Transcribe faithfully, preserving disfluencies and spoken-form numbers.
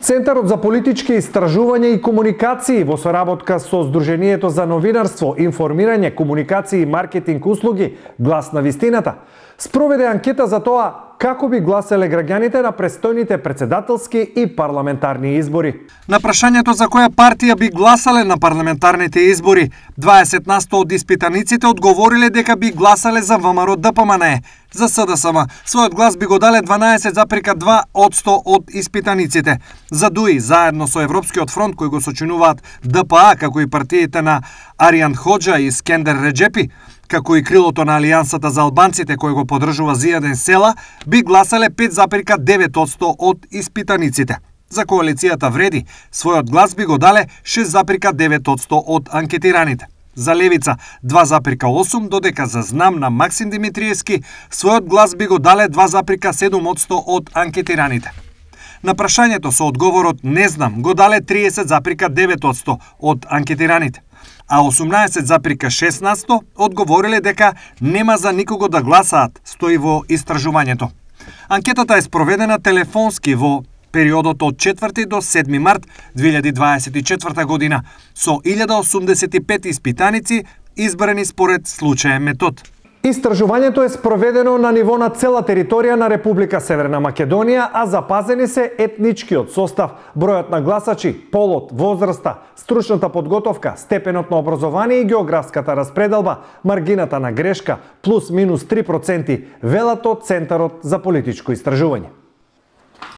Центарот за политички истражувања и комуникации во соработка со Сдруженијето за новинарство, информирање, комуникации и маркетинг услуги Глас на вистината спроведе анкета за тоа како би гласеле граѓаните на престојните претседателски и парламентарни избори. На прашањето за која партија би гласале на парламентарните избори, дваесет на сто од испитаниците одговориле дека би гласале за ВМРО Д П М Н Е. За С Д С М својот глас би го дале дванаесет зарез два одсто од испитаниците. За Д У И, заедно со Европскиот фронт кој го сочинуваат Д П А, како и партиите на Аријан Хоџа и Скендер Реџепи, како и крилото на Алијансата за албанците кој го поддржува Зијаден Села, би гласале пет зарез девет одсто од испитаниците. За коалицијата Вреди, својот глас би го дале шест зарез девет одсто од анкетираните. За Левица два зарез осум, додека за Знам на Максим Димитриевски својот глас би го дале два зарез седум одсто од анкетираните. На прашањето со одговорот не знам го дале триесет зарез девет одсто од анкетираните, а осумнаесет зарез шеснаесет одговориле дека нема за никого да гласаат, стои во истражувањето. Анкетата е спроведена телефонски во периодот од четврти до седми март две илјади дваесет и четврта година со илјада осумдесет и пет испитаници избрани според случаен метод. Истражувањето е спроведено на ниво на цела територија на Република Северна Македонија, а запазени се етничкиот состав, бројот на гласачи, полот, возраста, стручната подготовка, степенот на образование и географската распределба, маргината на грешка плюс минус три проценти, велат од Центарот за политичко истражување.